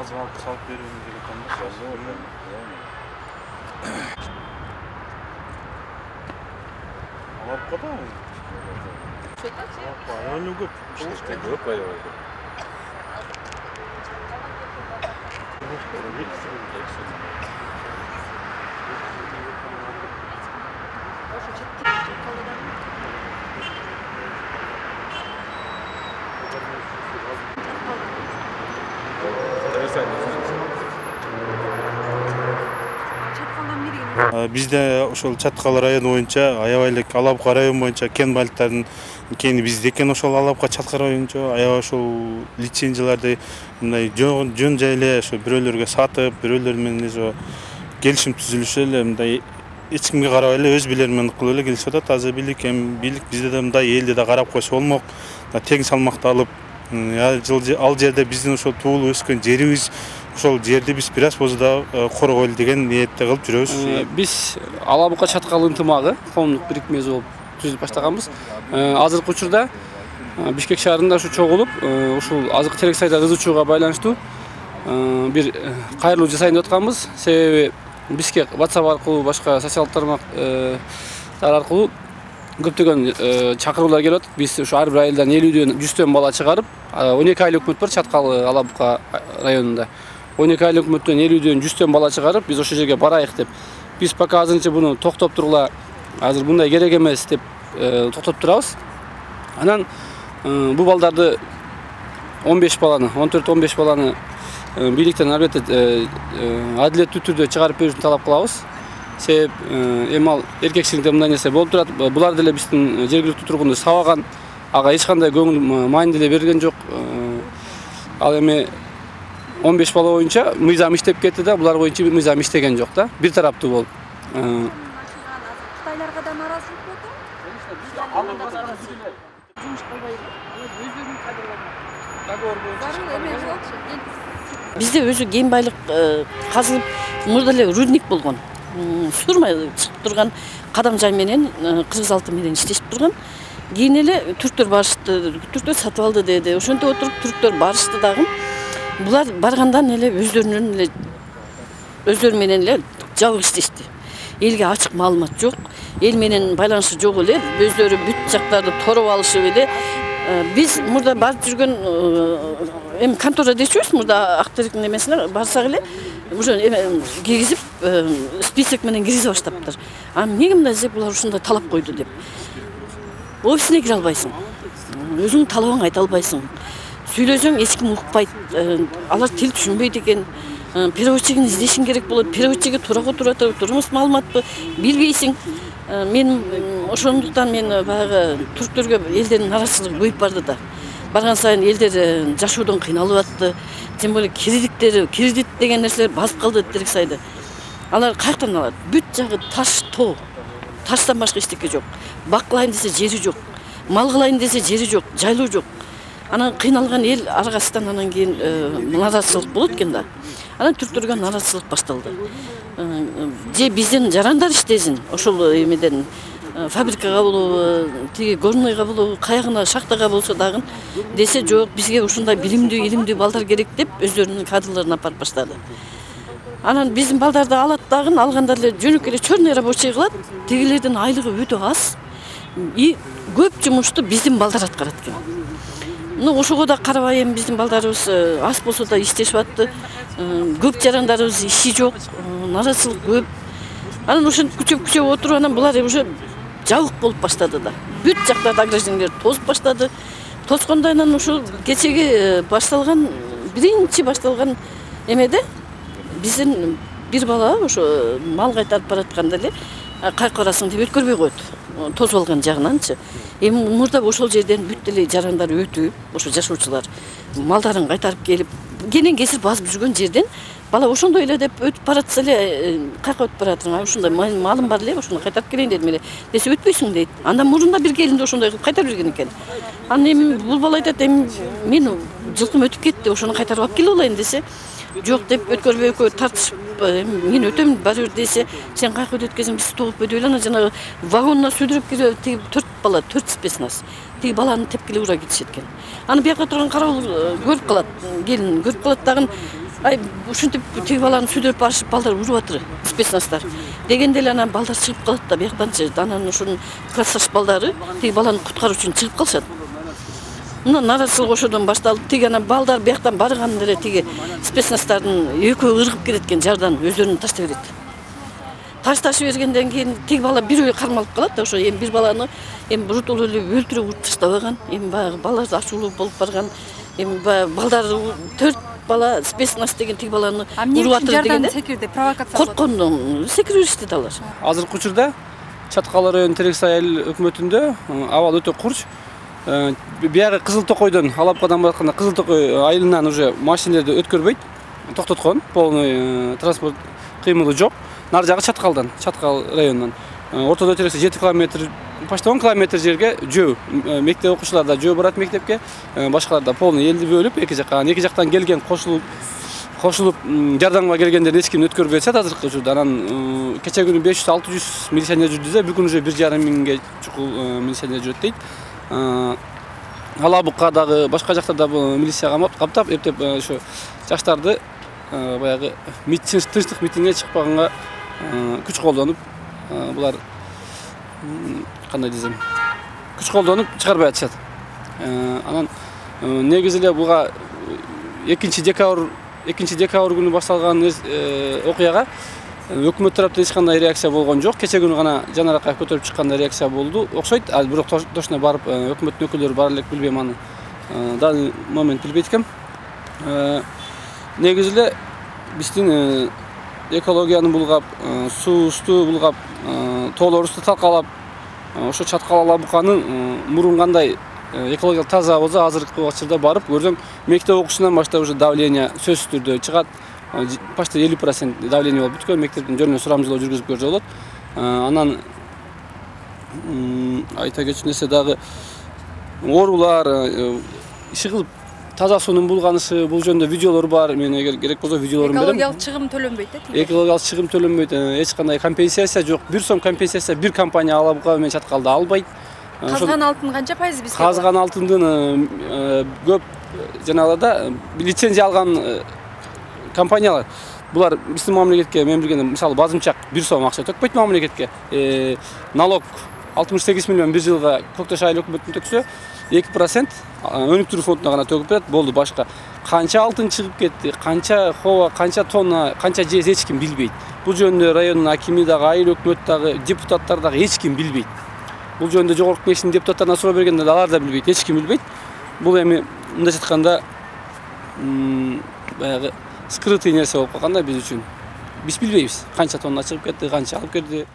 азык алып салып берүүнү керек экен. Алапка да. Району көп. Көп аябай. Бизде ошол Чаткал району боюнча аябай эле Алапка район боюнча кен байлыктардын кени бизде экен. Ошол Алапка Чаткал боюнча аябай ошол лицензияларды мындай жөн жай эле ошо бирөөлөргө сатып, бирөөлөр менен ошо келишим түзүлүшүп эле мындай эч кимге карабай эле өз бийлери менен кылып эле келишип атат. Азыр бийлик бизде да мындай элди да карап койсо болмок. Тең салмакта алып, ал жерде биздин ошол туулуп өскөн жерибиз, ошол жерди биз бир аз болсо да коргойлу деген ниетте кылып жүрөбүз. Биз Алапка Чаткал ынтымагы коомдук бирикмеси болуп түзүп баштаганбыз. Азыркы учурда Бишкек шаарында ушу чогулуп, ушул азык терек сайда кызычууга байланыштуу бир кайрылуу жасайын деп атканбыз. Себеби Бишкек WhatsApp аркылуу, башка социалдык тармактар аркылуу көптөгөн чакыруулар келип атат. Биз ушу ар бир айылдан 50дөн 100төн бала чыгарып, 12 айлык өкмөт бар Чаткал Алапка районунда. 12 айлык өкмөттөн 50дөн 100төн бала чыгарып, биз ошол жерге барайык деп. Биз пока азырынча буну токтоп тургула, азыр мындай керек эмес деп токтоп турабыз. Анан бул балдарды 15 баланы, 14-15 баланы бийликтен албетте адилеттүү түрдө чыгарып берүүсүн талап кылабыз. Себеп эми ал эркекчиликте мындай нерсе болуп турат. Булар деле биздин жергиликтүү тургунду сабаган, ага эч кандай көңүл маани деле берген жок. Ал эми 15 бала боюнча мыйзам иштеп кетти да, булар боюнча мыйзам иштеген жок да. Бир тараптуу болуп. Кытайларга да наразылык болду. Жумуш кылбай өздөрүнүн кадрларына. Бизде өзү кен байлык казылып, мурда эле рудник болгон. Сурмай чыгып турган кадам жай менен кыргыз алты менен иштешип турган. Кийин эле түрктөр барышты, түрктөр сатып алды деди. Ошентип отуруп түрктөр барышты дагы. Булар баргандан эле өздөрү менен эле жабык иштешти. Элге ачык маалымат жок, эл менен байланышы жок эле, өздөрү бүт жактарды тороп алышып эле. Биз мурда барып жүргөн эми контора дечүбүз, мурда Актериктин эмесине барсак эле уже киргизип список менен киргизе баштаптыр. Эмнеге мындай деп булар ушундай талап койду деп. Офисине кире албайсың. Өзүң талабыңды айта албайсың. Сүйлөсөң эч ким укпайт. Алар тил түшүнбөйт экен. Переводчигин издешиң керек болот. Переводчиге турага турмуш маалыматты билбейсиң. Мен ошондуктан баягы түрктөргө элдердин наразычылыгы көбөйүп барды да. Барган сайын элдер жашоодон кыйналып атты. Тем более кредит деген нерселер басып калды терек сайды. Алар каяктан алат? Бүт жагы таш, тоо. Таштан башка эчтеке жок. Бакылайын десе жери жок. Мал кылайын десе жери жок, жайлоо жок. Анан кыйналган эл аргасынан анан кийин наразычылык болот экен да. Анан түрктөргө наразычылык башталды. Же биздин жарандар иштесин, ошол эмеден фабрикага болобу, тиги горнойго болобу, каягына шахтага болсо дагы десе жок, бизге ушундай билимдүү, илимдүү балдар керек деп өздөрүнүн кадрларын апарып баштады. Анан биздин балдарды алат дагы, алгандар эле жөнөкөй эле черный рабочий кылат. Тигилердин айлыгы өтө аз. И көп жумушту биздин балдар аткарат экен. Ошого да карабай эми биздин балдарыбыз аз болсо да иштешип атты. Көп жарандарыбыз иши жок, наразычылык көп. Анан ошентип күчөп отуруп анан булар уже жабык болуп баштады да. Бүт жактарды ограждениялер тосуп баштады. Тоскондо анан ушул кечеги биринчи башталган эмеде биздин бир бала ошо мал кайтарып баратканда эле кайка барасың деп өткөрбөй коет. Тосуп алган жагынанчы. Эми мурда ошол жерден бүт эле жарандар өтүп, ошо жашоочулар малдарын кайтарып келип, кенен кесир басып жүргөн жерден бала ошондой эле деп өтүп баратса эле, кайка өтүп баратырың, ушундай малым бар эле, ошону кайтарып келейин дедим эле. Десе өтпөйсүң дейт. Андан мурунда бир келинди ошондой кылып кайтарып берген экен. Анан эми бул бала айтат, эми мен жылкым өтүп кетти, ошону кайтарып алып келип алайын десе, жок деп өткөрбөй экөө тартышып, мен өтөм баары бир десе, сен кайка өткөзсөң биз тогуп өтүп эле, анан жанагы вагонуна сүдүрүп кирип, тиги 4 бала, 4 спецназ. Тиги баланы тепкилеп ура кетишет экен. Аны бияка турган карабул көрүп калат, келин көрүп калат дагы. Ай ушинтип тиги баланы сүйдөп барышып балдар уруп атыр спецназдар. Дегенде эле анан балдар чыгып калат да бияктанчы. Анан ушунун классташ балдары тиги баланы куткаруу үчүн чыгып калышат. Мына наразычылык ошодон башталып, тиги анан балдар бияктан барганда эле тиги спецназдардын экөө ыргып кетет экен жардан өздөрүн таштай берет. Ташташып бергенден кийин тиги бала бирөө кармалып калат да ошо эми бир баланы эми брутул эле өлтүрүп уруп таштабаган. Эми баягы балдар ачуулуу болуп барган. Эми балдар 4 бала спецназ деген тиги баланы уруп атыр дегенде секирди, провокация корккондон секирип беришти алар. Азыркы учурда Чаткал району Терексай айыл өкмөтүндө абал өтө курч. Биягы Кызыл Токойдон Алапкадан баратканда Кызыл Токой айылынан уже машиналарды өткөрбөйт, токтоткон, полный транспорт кыймылы жок. Нары жагы Чаткалдан, Чаткал районунан. Ортодо Терексай 7 километр, почти 10 километр жерге жөө. Мектеп окуучулар да жөө барат мектепке, башкалар да полный элди бөлүп эки жактан келген кошулуп жардамга келгендер эч ким өткөрбөй атышат азыркы учурда. Анан кече күнү 500-600 милиционер жүрдү, бир күн уже 1,5 миңге чукул милиционер жүрөт дейт. Алабукка дагы башка жактарда милиция каптап, эптеп ошо жаштарды баягы тынчтык митингге чыкпаганга күч колдонуп, булар кандай десем, күч колдонуп чыгарбай атышат. Анан негизи эле буга 2 декабрь күнү башталган окуяга өкмөт тараптан эч кандай реакция болгон жок. Кече күнү гана Жанар Акаев көтөрүп чыкканда реакция болду. Окшойт, бирок точно барып өкмөттүн өкүлдөрү бара элек билбейм аны. Данный момент билбейт экем. Негизи эле биздин экологияны булгап, суусту булгап, тоолорубузду талкалап, ошо Чаткал Алабуканын мурун кандай экологиялык таза болсо азыркы убакытта барып көрсөң, мектеп окуучусунан баштап уже давление сөзсүз түрдө чыгат. Почти 50% давление болуп бүткөн, мектептин жөнүнөн сурамжылоо жүргүзүп көрсө болот. Анан айта кетчү нерсе дагы оорулар, иши кылып таза суунун булганышы, бул жөнүндө видеолор бар. Мен эгер керек болсо видеолорун берем. Экологиялык чыгым төлөнбөйт да? Экологиялык чыгым төлөнбөйт. Эч кандай компенсация жок. 1 сом компенсация бир компания Алабука менен Чаткалда албайт. Казган алтын канча пайыз бизге? Казган алтындын көп жанагыларда лицензия алган компаниялар. Булар биздин мамлекетке мен билгенде мисалы базымчак 1 сом акча төкпөйт мамлекетке. Налог 68 миллион бир жылга Көктөш айыл өкмөтүнүн төксө 2% өнүктүрүү фондуна гана төгүп берет, болду. Башка канча алтын чыгып кетти, канча хова, канча тонна, канча жез эч ким билбейт. Бул жөнүндө райондун акими дагы, айыл өкмөт дагы, депутаттар дагы эч ким билбейт. Бул жөнүндө жогорку кеңештин депутаттарына суроо бергенде алар да билбейт, эч ким билбейт. Бул эми мындай айтканда баягы скрытый нерсе болуп калган да биз үчүн. Биз билбейбиз канча тонна чыгып кетти, канча алып келди.